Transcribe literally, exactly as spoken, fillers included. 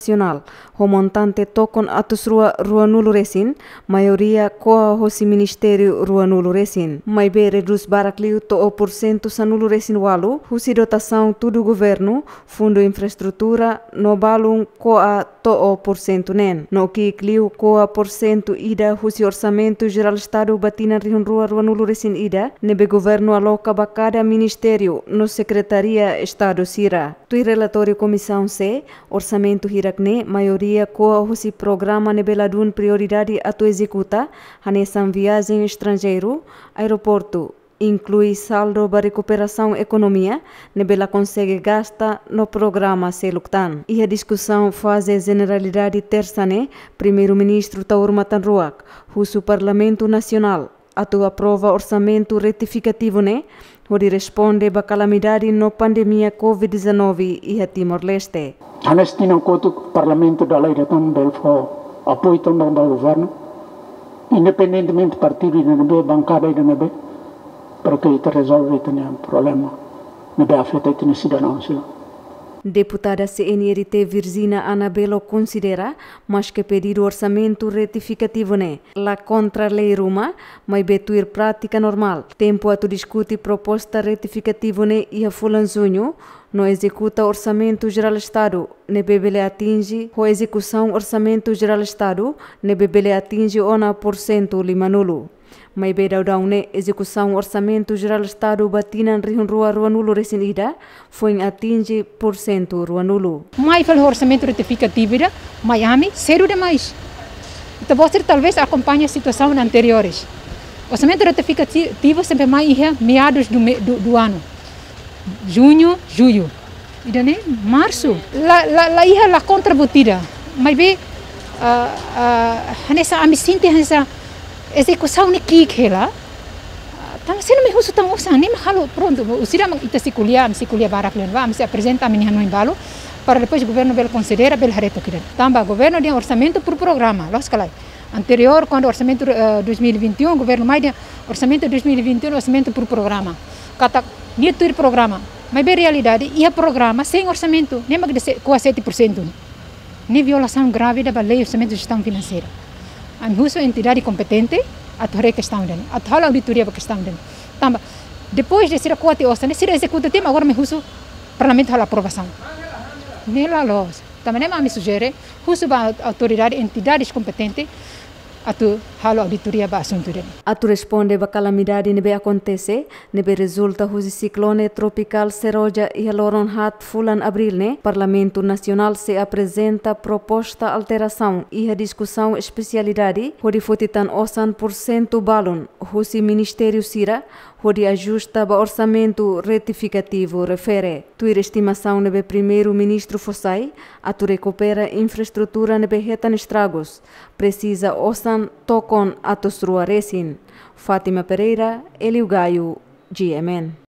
Nasionál, ho montante tokon atus rua ruanulu resin, maioria ko'a hosi ministériu ruanulu resin. Maibé redús barak liu to'o pursentu sanulu resin ualu, husi dotasaun tudu governu, fundu infraestrutura, no balun ko'a to'o pursentu neen. No ki'ik liu ko'a pursentu ida husi Orsamentu Jerál Estadu ba tinan rihun rua ruanulu resin ida, ne'ebé governu aloka ba kada ministériu no sekretaria Estadu sira. Tuir relatóriu Komisaun C, orsamentu hirak-ne'e maioria ko'a hosi programa ne'ebé ladún prioridade atu ezekuta, hanesan viajen estranjeiru, aeroportu, inklui saldu ba rekuperasaun ekonomia, ne'ebé la konsege gasta no programa seluk tan. Iha diskusaun faze jeneralidade tersa ne'e, Primeiru-Ministru Taur Matan Ruak husu Parlamentu Nasionál atu aprova orsamentu retifikativu ne'e, hodi responde ba kalamidade no pandemia covid dezanove iha Timor-Leste. Hanesan tinan kotuk Parlamentu dala ida tan bele fó apoiu tan ba governu, independentemente partidu ida ne'ebé, bankada ida ne'ebé, para ke ita rezolve ita-nia problema ne'ebé afeta ita-nia sidadaun sira. Deputada C N R T Virgina Anabelo konsidera, maske pedidu orsamentu retifikativu ne'e la kontra lei ruma, maibé tuir prátika normál, tempu atu diskute proposta retifikativu ne'e iha fulan Juñu, no ezekuta Orsamentu Jerál Estadu ne'ebé bele atinje, ho ezekusaun Orsamentu Jerál Estadu ne'ebé bele atinje ona pursentu limanulu. Maibé daudaun ne'e ezekusaun Orsamentu Jerál Estadu ba tinan rihun rua ruanulu resin ida foin atinje pursentu ruanulu. Mai fali orsamentu retifikativu ida, mai ami sedu demais. Ita-boot sira talvés akompaña situasaun anteriores. Orsamentu retifikativu sempre mai iha meados do me-, do, do ano. Juñu, jullu. Ida-ne'e marsu. La, la, la iha la kontra buat ida. Maibé, ah, ah, hanesan ami sente hanesan ezekusaun ne'e ki'ik hela. Ah, tanba sira mak husu tan osan, ne'e mak halo prontu. Husi ida mak ita sei ko'alia, ami sei ko'alia barak liu ba, ami sei aprezenta ami-nia hanoin balu, para depois governu bele konsidera, bele haree took ida. Tanba governu dehan orsamentu por programa, loos ka lae. Anteriór, kuandu orsamentu, eh, dois mil e vinte e um, governu mai dehan orsamentu dois mil e vinte e um, orsamentu por programa. Katak, nia tuir programa. Maibé realidade, iha programa sein orsamentu, ne'e mak de se-, ko'a sete por cento. Ne'e violasaun grave ida ba lei orsamentu jestaun finanseira. Ami husu entidade kompetente atu haree kestaun ida-ne'e, atu halo auditoria ba kestaun ida-ne'e. Tanba, depois de sira ko'a tiha osan, sira ezekuta tiha, agora mai husu Parlamentu halo aprovasaun. Ne'e la loos. Tanba ne'e mak ami sujere, husu ba autoridade, entidades kompetente, atu halo auditoria ba asuntu ida-ne'e. Atu responde ba kalamidade ne'ebé akontese, ne'ebé rezulta husi siklone tropikál Seroja iha loron haat fulan Abríl ne'e, Parlamentu Nasionál sei aprezenta proposta alterasaun iha diskusaun espesialidade, hodi foti tan osan pursentu balun husi ministériu sira, hodi ajusta ba orsamentu retifikativu refere. Tuir estimasaun ne'ebé Primeiru-Ministru fó sai, atu rekupera infraestrutura ne'ebé hetan estragus, presiza osan tokon atus rua resin. Fátima Pereira, Hélio Gaio, G M N.